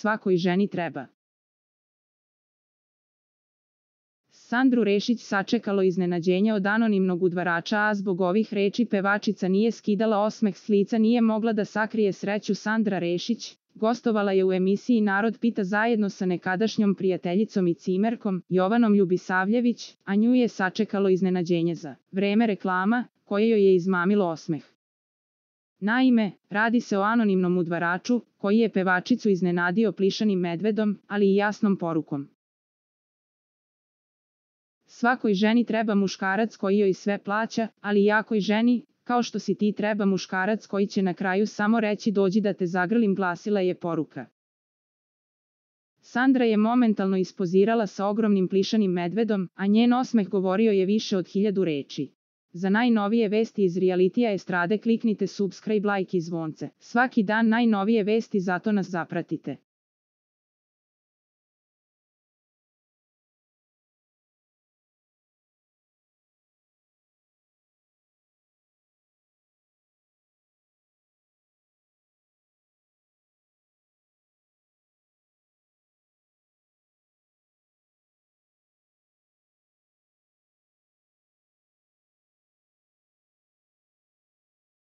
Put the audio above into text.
svakoj ženi treba. Sandru Rešić sačekalo iznenađenje od anonimnog udvarača, a zbog ovih reči pevačica nije skidala osmeh s lica, nije mogla da sakrije sreću. Sandra Rešić gostovala je u emisiji Narod pita zajedno sa nekadašnjom prijateljicom i cimerkom, Jovanom Ljubisavljević, a nju je sačekalo iznenađenje za vreme reklama, koje joj je izmamilo osmeh. Naime, radi se o anonimnom udvaraču, koji je pevačicu iznenadio plišanim medvedom, ali i jasnom porukom. Svakoj ženi treba muškarac koji joj sve plaća, ali jakoj ženi, kao što si ti, treba muškarac koji će na kraju samo reći dođi da te zagrlim, glasila je poruka. Sandra je momentalno ispozirala sa ogromnim plišanim medvedom, a njen osmeh govorio je više od 1000 reči. Za najnovije vesti iz realitija estrade kliknite subscribe, like i zvonce. Svaki dan najnovije vesti, zato nas zapratite.